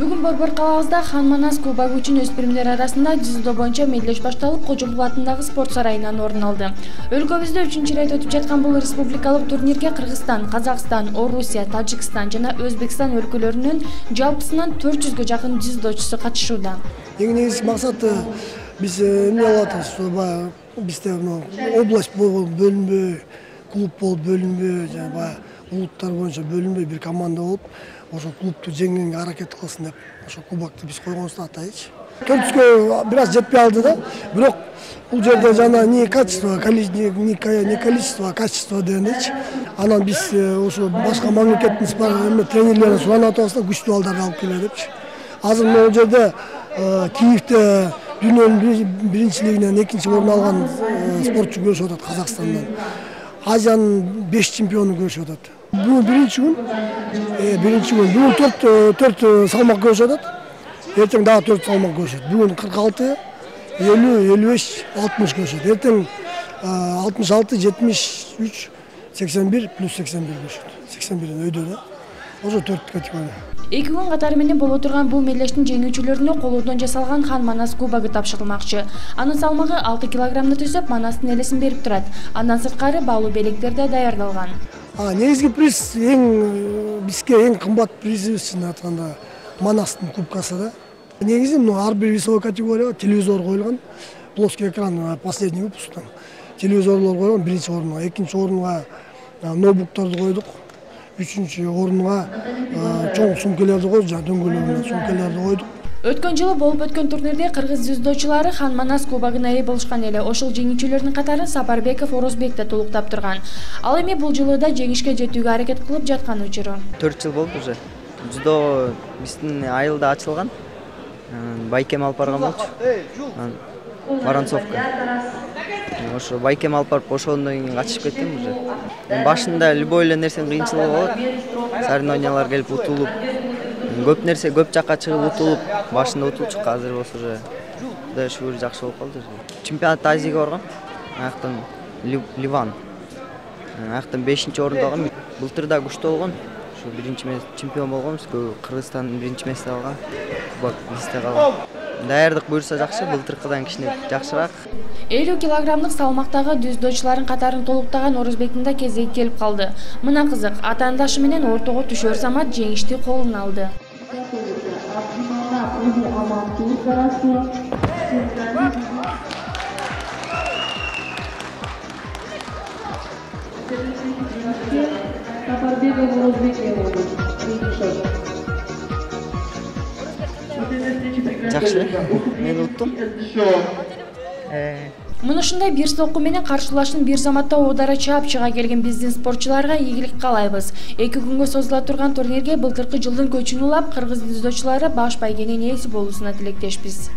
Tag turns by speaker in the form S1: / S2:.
S1: Бүгүн Борбор калабызда Хан Манас кубогу үчүн өспүрүмдөр арасында дзюдо боюнча мелдеш башталып, Кожомулу атындагы спорт сарайынан орун алды. Өлкөбүздө 3-чү ирет өтүп жаткан бул республикалык турнирге Кыргызстан, Казакстан, Орусия, Тажикстан жана Өзбекстан өлкөлөрүнүн жалпысынан 400гө жакын дзюдочусу катышууда.
S2: Эң негизги максаты биз эмне алып атабыз, бизде область бөлүнбөй, клуб болуп бөлүнбөй, жана улуттар боюнча бөлүнбөй бир команда болуп, ошо клубту жеңүүгө аракет кылсын деп, ошо кубокты биз койгонубузду атайчы. 400гө бир аз жетпей алды да, бирок бул жерде жана не качество, не количество, а качество дегендейчи. Анан биз ошо башка мамлекеттин тренерлерин суранып атабыз да, күчтүү балдарды алып келе депчи. Азыр могу жерде Киевде дүйнөнүн биринчилигинен 2-чи орун алган спортчу көрүшүп атат Казакстандан. Азиянын 5 чемпиону көрүшүп атат. Бүгүн биринчи күн. Бүгүн 4 салмак көрүшүп атат. Эртең дагы 4 салмак көрүшөт. Бүгүн 46, 50, 55, 60 көрүшөт. Эртең 66, 73, 81 плюс 81 көрүшөт. 81 өйдө да. Ошо 4 категория.
S1: 2 күн катары менен боло турган бул мелдештин жеңүүчүлөрүнө колдон жасалган Хан Манас кубогу тапшырылмакчы. Анын салмагы 6 килограммды түзөп, Манастын элесин берип турат. Андан сырткары баалуу белектер да даярдалган.
S2: Негизги приз бизге эң кымбат призибиз айтканда Манастын кубкасы да. Негизи ар бир весовой категорияга телевизор коюлган, плоский экран последний выпусктан. Телевизорлор койгон биринчи орунга, экинчи орунга ноутбуктарды койдук. 3-чү орунга чоң сумкаларды койдук, жана дөңгөлөгүнө сумкаларды койдук.
S1: Өткөн жылы болуп өткөн турнирде кыргыз дзюдочулары Хан Манас кубогуна ээ болушкан эле. Ошол жеңүүчүлөрдүн катарын Сапарбеков, Орозбек да толуктап турган. Ал эми бул жылы да жеңишке жетүүгө аракет кылып жаткан учуру.
S3: 4 жыл болду уже. Дзюдо биздин айылда ачылган. Байкем алып барган болчу. Воронцовка. Ошо байкем алып барып ошондон кийин качышып кеткем уже. Башында любой эле нерсенин кыйынчылыгы болот. Соревнованиялар келип утулуп, көп жакка чыгып утулуп, башында утулчук, азыр болсо уже Кудайга шүгүр жакшы болуп калды. Чемпионат Азияга барган. Аяктан Ливан. Аяктан 5-чи орунду алган. Былтыр да күчтүү болгон. Ошо биринчи чемпион болгонбуз. Кыргызстан биринчи месте алган. Кубок бизде калган. Даярдык буюрса жакшы, былтыркыдан кичине жакшыраак.
S1: 50 килограммдык салмактагы дзюдочулардын катарын толуктаган Орозбектин да кезеги келип калды. Мына кызык, атаандашы менен ортого түшөр замат жеңишти колуна алды.
S3: Жакшы, мен уттум.
S1: Мына ушундай бир сокку менен каршылаштын бир заматта оодара чаап чыга келген биздин спортчуларга ийгилик каалайбыз. 2 күнгө созула турган турнирге былтыркы жылдын көчүн улап, кыргыз дзюдочулары баш байгенин ээси болуусуна тилектешпиз.